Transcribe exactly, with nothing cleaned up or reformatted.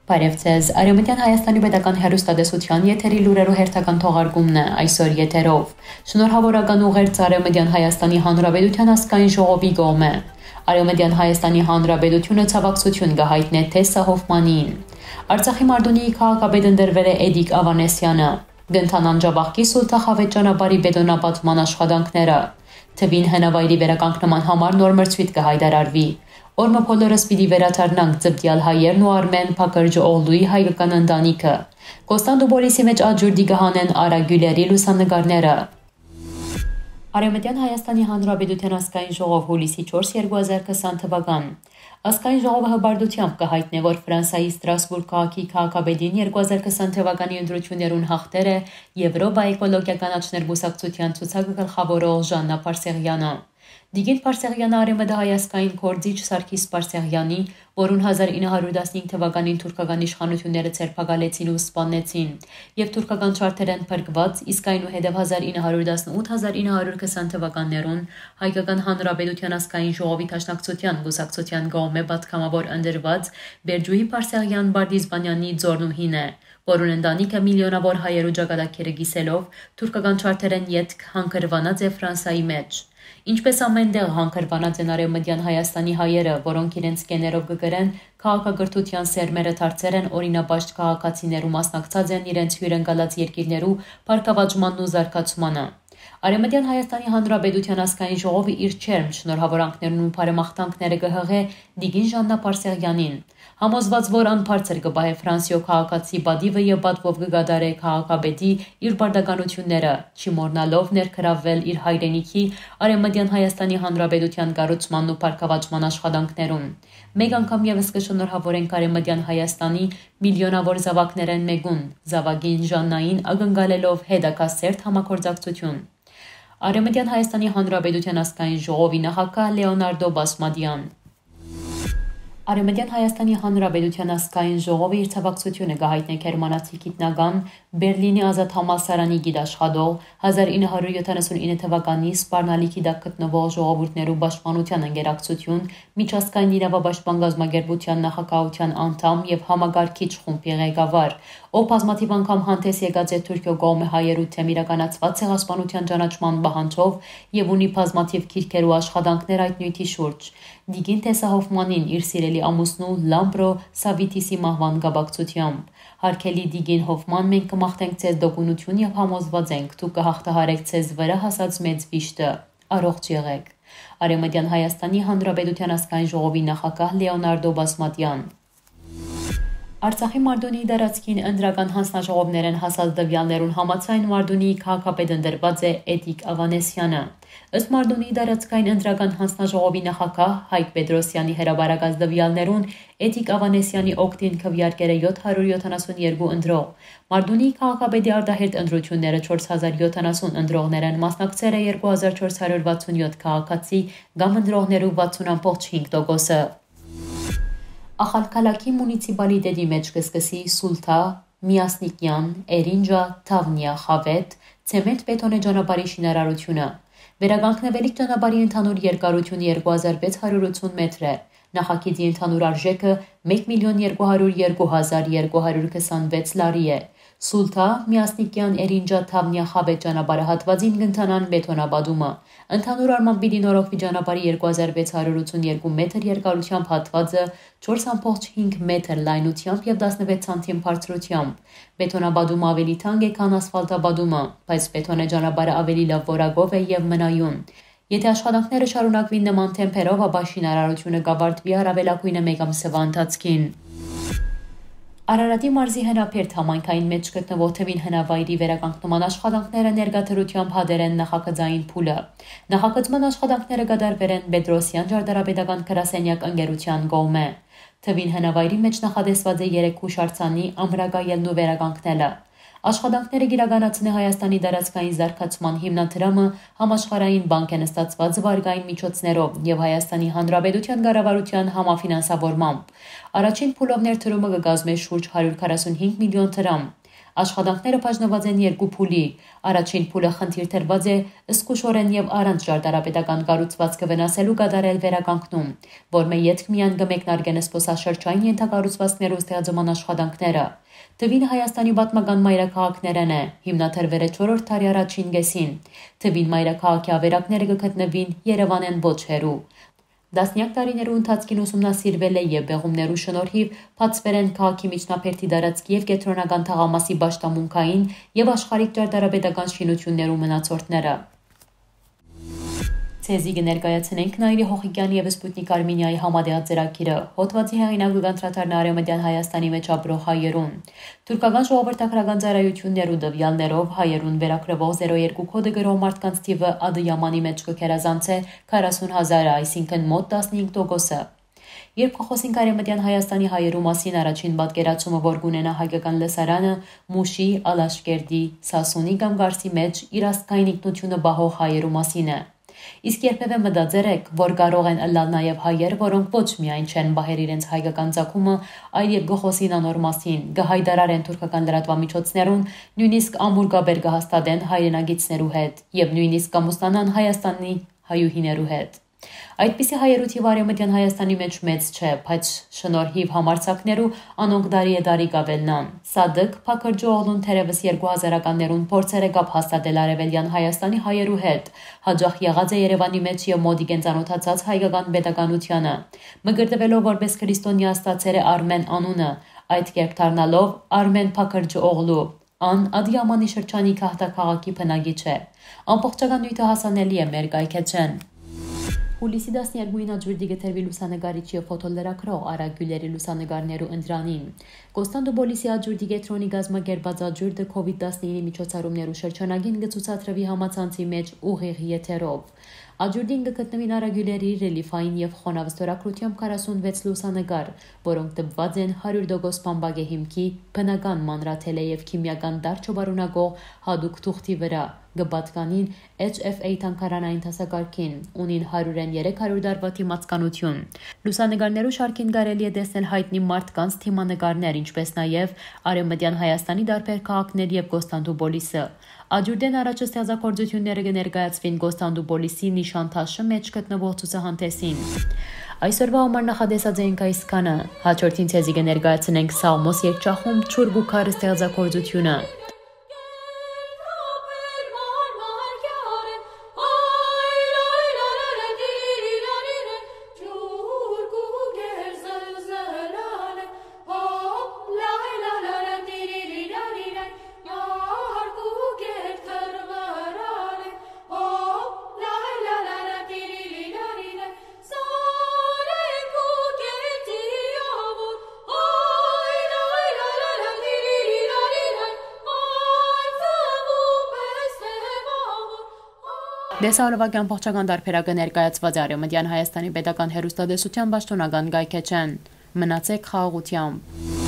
Բարև ձեզ։ Արեւմտյան Հայաստանի պետական հեռուստատեսության եթերի լուրերու հերթական թողարկումն է այսօր եթերով։ Շնորհավորական ուղերձ Արեւմտյան Հայաստանի Հանրապետության ազգային ժողովի կողմէ։ Արեւմտյան Հայաստանի Հանրապետությունը ցավակցություն կը հայտնէ Թեսա Հոֆմանին։ Արցախի Մարտունիի քաղաքապետ ընտրվել է Էդիկ Ավանեսյանը։ Կ'ընթանան Ջաբաղկի Սուլթա Խավետ ճանապարհի բետոնապատման աշխատանքները։ Թուին հնավայրի վերականգնման համար նոր մրցոյթ կը հայտարարուի։ Օրը բոլորս պիտի վերադառնանք, Ձպտեալ Հայերն ու Արմեն Փակրճ Օղլուի հայկական ընտանիքը։ Կոստանդուպոլիսի մէջ աճուրդի կը հանեն Արա Գիւլերի լուսանկարները։ Արեւմտյան Հայաստանի Հանրապետության ազգային ժողով հուլիսի չորս, երկու հազար քսան թվական։ Ազգային ժողովը հպարտությամբ կը հայտնէ, որ Ֆրանսայի Ստրասբուրգ քաղաքի քաղաքապետին երկու հազար քսան թվականի ընտրութիւններուն յաղթեր է Եվրոպա էկոլոգիական աճներ կուսակցության ցուցակը գլխաւորող Ժաննա Պարսեղյանը։ Տիկին Պարսեղյանը Արեւմտահայ ազգային գործիչ Սարգիս Պարսեղյանի, որուն հազար ինը հարիւր տասնհինգ թվականին թուրքական իշխանութիւնները ձերբակալեցին ու սպաննեցին, եւ թուրքական չարթերէն փրկուած, իսկ այնուհետեւ հազար ինը հարիւր տասնութ, հազար ինը հարիւր քսան թվականներուն Հայկական Հանրապետության ազգային ժողովի Դաշնակցության կուսակցության կողմէ պատգամաւոր ընտրուած Բերջուհի Պարսեղյան Պարտիզպանյանի ծոռնուհին է, որուն ընտանիքը միլիոնաւոր հայերու ճակատագիրը կիսելով թուրքական չարթերէն ետք հանգրուանած է Ֆրանսայի մէջ։ Ինչպէս ամէն տեղ հանգրուանած են Արեւմտյան Հայաստանի հայերը, որոնք իրենց կեներով կը կրեն քաղաքակրթութեան սերմերը, դարձեր են օրինապաշտ քաղաքացիներ ու մասնակցած են իրենց հիւրընկալած երկիրներու բարգաւաճմանն ու զարգացմանը։ Արեւմտյան Հայաստանի Հանրապետության ազգային ժողովը իր ջերմ շնորհավորանքներն ու բարեմաղթանքները կը յղէ Տիկին Ժաննա Պարսեղյանին, համոզուած, որ ան բարձր կը պահէ Ֆրանսիոյ քաղաքացի պատիւը եւ պատվով կը կատարէ քաղաքապետի իր պարտականութիւնները, չի մոռնալով ներգրաւվել իր հայրենիքի՝ Արեւմտյան Հայաստանի Հանրապետության կառուցմանն ու բարգաւաճման աշխատանքներուն։ Մէկ անգամ եւս կը շնորհավորենք Արեւմտյան Հայաստանի միլիոնաւոր զաւակներէն մէկուն՝ զաւակին Ժաննային, ակնկալելով հետագայ սերտ համագործակցութիւն։ Արեւմտյան Հայաստանի Հանրապետության ազգային ժողովի նախագահ Լեոնարդո Բասմատեան։ Արեւմտյան Հայաստանի Հանրապետության ազգային ժողովը իր ցավակցութիւնը կը հայտնէ գերմանացի գիտնական, Բերլինի ազատ համալսարանի գիտաշխատող, հազար ինը հարիւր յոթանասուն ինը թվականի սպառնալիքի տակ գտնուող ժողովուրդներու պաշտպանության ընկերակցութիւն, միջազգային իրավապաշտպան կազմակերպութեան նախագահութեան անդամ եւ համակարգիչ խումբի ղեկավար, ով բազմաթիւ անգամ հանդէս եկած է Թուրքիոյ կողմէ հայերու դէմ իրականացուած ցեղասպանութեան ճանաչման պահանջով եւ ունի բազմաթիւ գիրքեր ու աշխատանքներ այդ նիւթի շուրջ։ Տիկին Թեսա Հոֆմանին իր սիրելի ամուսնու Լամբրո Սավիթիսի մահուան կապակցությամբ։ Հարգելի Տիկին Հոֆման, մենք կը մաղթենք ձեզ տոկունութիւն եւ համոզուած ենք, դուք կը յաղթահարէք ձեզ վրայ հասած մեծ վիշտը։ Առողջ եղէք։ Արեւմտյան Հայաստանի Հանրապետության ազգային ժողովի նախագահ Լեոնարդո Բասմատեան։ Արցախի Մարտունիի տարածքին ընտրական հանձնաժողովներէն հասած տուեալներուն համաձայն Մարտունիի քաղաքապետ ընտրուած է Էդիկ Ավանեսյանը։ Ըստ Մարտունիի տարածքային ընտրական հանձնաժողովի նախագահ Հայկ Պետրոսյանի հրապարակած տուեալներուն, Էդիկ Ավանեսյանի օգտին քուեարկեր է յոթ հարիւր յոթանասուն երկու ընտրող։ Մարտունիի քաղաքապետի արտահերթ ընտրութիւնները չորս հազար յոթանասուն ընտրողներէն մասնակցեր է երկու հազար չորս հարիւր վաթսուն յոթ քաղաքացի կամ ընտրողներու վաթսուն յոթ յոթանասուն հինգ տոկոսը։ Ախալքալաքի մունիցիպալիտետի մէջ կը սկսի Սուլթա, Միասնիկեան, Էրինջա, Թավնիա, Խավետ, ցեմենտ-բետոնե ճանապարհի շինարարութիւնը։ Վերականգնուելիք ճանապարհի ընդհանուր երկարութիւնը երկու հազար վեց հարիւր ութսուն մեթր է։ Նախագիծի ընդհանուր արժէքը մէկ միլիոն երկու հարիւր երկու հազար երկու հարիւր քսանվեց լարի է։ Սուլթա, Միասնիկեան, Էրինջա, Թավնիա, Խավետ ճանապարհը հատուածին կ'ընթանան բետոնապատումը։ Ընդհանուր առմամբ պիտի նորոգուի ճանապարհի երկու հազար վեց հարիւր ութսուն երկու մեթր երկարութեամբ հատուածը, չորս յոթանասուն հինգ մեթր լայնութեամբ եւ տասնվեց սանթիմ բարձրութեամբ։ Բետոնապատումը աւելի թանկ է, քան ասֆալտապատումը, բայց բետոնե ճանապարհը աւելի լաւ որակով է եւ մնայուն։ Եթէ աշխատանքները շարունակուին նման թեմպերով, ապա շինարարութիւնը կ'ավարտուի առաւելագոյնը մէկ ամսեան ընթացքին։ Արարատի մարզի Հնաբերդ համայնքային մէջ գտնուող թուին հնավայրի վերականգնման աշխատանքները ներկայ դրութեամբ հատեր են նախագծային փուլը։ Նախագծման աշխատանքները կատարուեր են Պետրոսեան ճարտարապետական գրասենեակ ընկերութեան կողմէ։ Թուին հնավայրի մէջ նախատեսուած է երեք յուշարձանի ամրակայելն ու վերականգնելը։ Աշխատանքները կ'իրականացնէ Հայաստանի տարածքային զարգացման հիմնադրամը համաշխարհային բանկէն ստացուած վարկային միջոցներով եւ Հայաստանի Հանրապետութեան կառավարութեան համաֆինանսավորմամբ։ Առաջին փուլով ներդրումը կը կազմէ շուրջ հարիւր քառասուն հինգ միլիոն դրամ։ Աշխատանքները բաժնուած են երկու փուլի։ Առաջին փուլը խնդիր դրուած է զգուշօրէն եւ առանց ճարտարապետական կառուցուածքը վնասելու կատարել վերականգնում, որ մէ ետք միայն կը մեկնարկեն զբօսաշրջային ենթակառուցուածքներու ստեղծման աշխատանքները։ Թուին Հայաստանի պատմական մայրաքաղաքներէն է, հիմնադրուեր է չորրորդ դարի առաջին կեսին։ Թուին մայրաքաղաքի ավերակները կը գտնուին Երեւանէն ոչ հեռու։ Տասնեակ տարիներու ընթացքին ուսումնասիրուեր է եւ պեղումներու շնորհիւ բացուեր են քաղաքի միջնաբերդի տարածքի եւ կեդրոնական թաղամասի պաշտամունքային եւ աշխարհիկ ճարտարապետական շինութիւններու մնացորդները։ Ձեզի կը ներկայացնենք Նայիրի Հողիկեանի եւ Սպուտնիք Արմենիայի համատեղ ծրագիրը։ Հոդուածի հեղինակը կանդրադառնայ Արեւմտեան Հայաստանի մէջ ապրող հայերուն։ Թուրքական ժողովրդագրական ծառայութիւններու տուեալներով հայերուն վերագրուող զերո երկու կոդը կրող մարդկանց թիւը Ադըյամանի մէջ կը գերազանցէ քառասուն հազարը, այսինքն մօտ տասնհինգ տոկոսը։ Երբ կը խօսենք Արեւմտեան Հայաստանի հայերու մասին, առաջին պատկերացումը, որ կունենայ հայկական լսարանը, Մուշի, Ալաշկերտի, Սասունի կամ Կարսի մէջ իր ազգային ինքնութիւնը պահող հայերու մասին է։ Իսկ երբեւէ մտածեր եք, որ կարող են ըլլալ նաեւ հայեր, որոնք ոչ միայն չեն պահեր իրենց հայկական ծագումը, այլ եւ կը խօսին անոր մասին, կը յայտարարեն թուրքական լրատուամիջոցներուն, նոյնիսկ ամուր կապեր կը հաստատեն հայրենակիցներու հետ եւ նոյնիսկ կ'ամուսնանան Հայաստանի հայուհիներու հետ։ Այդպիսի հայերու թիվը Արեւմտեան Հայաստանի մէջ մեծ չէ, բայց շնորհիվ համարձակներու անոնք տարի է տարի կ'աւելնան։ Սադիկ Փաքըրճօղլուն թերեւս երկու հազարականներուն փորձեր է կապ հաստատել Արեւելեան Հայաստանի հայերու հետ, յաճախ եղած է Երեւանի մէջ եւ մօտիկէն ծանօթացած հայկական պետականութեանը։ Մկրտուելով որպէս քրիստոնեայ, ստացեր է Արմէն անունը, այդ կերպ դառնալով Արմէն Փաքըրճօղլու։ Ան Ադիամանի շրջանի Գահթա քաղաքի բնակիչ է։ Ամբողջական նիւթը հասանելի է մեր կայքէջէն։ Հուլիսի տասներկուին աճուրդի կը տրուի լուսանկարիչ եւ ֆոթոլրագրող Արա Գիւլերի լուսանկարներու ընտրանին։ Կոստանդուպոլիսի աճուրդի կեդրոնի կազմակերպած աճուրդը քովիդ տասնինի միջոցառումներու շրջանագին կը ցուցադրուի համացանցի մէջ ուղիղ եթերով։ Աճուրդին կը գտնուին Արա Գիւլերի ռելիֆային եւ խոնաւ ստորագրութեամբ քառասունվեց լուսանկար, որոնք տպուած են հարիւր տոկոս բամբակէ հիմքի, բնական մանրաթելէ եւ քիմիական տարր չպարունակող յատուկ թուղթի վրայ, կը պատկանին H F A թանգարանային դասակարգին, ունին հարիւրէն երեք հարիւր տարուայ դիմացականութիւն։ Լուսանկարներու շարքին կարելի է տեսնել յայտնի մարդկանց դիմանկարներ, ինչպէս նաեւ Արեւմտեան Հայաստանի տարբեր քաղաքներ եւ Կոստանդուպոլիսը։ Աճուրդէն առաջ ստեղծագործութիւնները կը ներկայացուին Կոստանդուպոլիսի Նիշանթաշը մէջ գտնուող ցուցահանդէսին։ Այսօրուայ համար նախատեսած էինք այսքանը։ Յաջորդին ձեզի կը ներկայացնենք Սաղմոս երգչախումբ «Ջուր կու քար» ստեղծագործութիւնը։ Տեսահոլովակի ամբողջական տարբերակը ներկայացուած է Արեւմտեան Հայաստանի պետական հեռուստատեսության պաշտօնական կայքէջէն։ Մնացեք խաղաղութեամբ։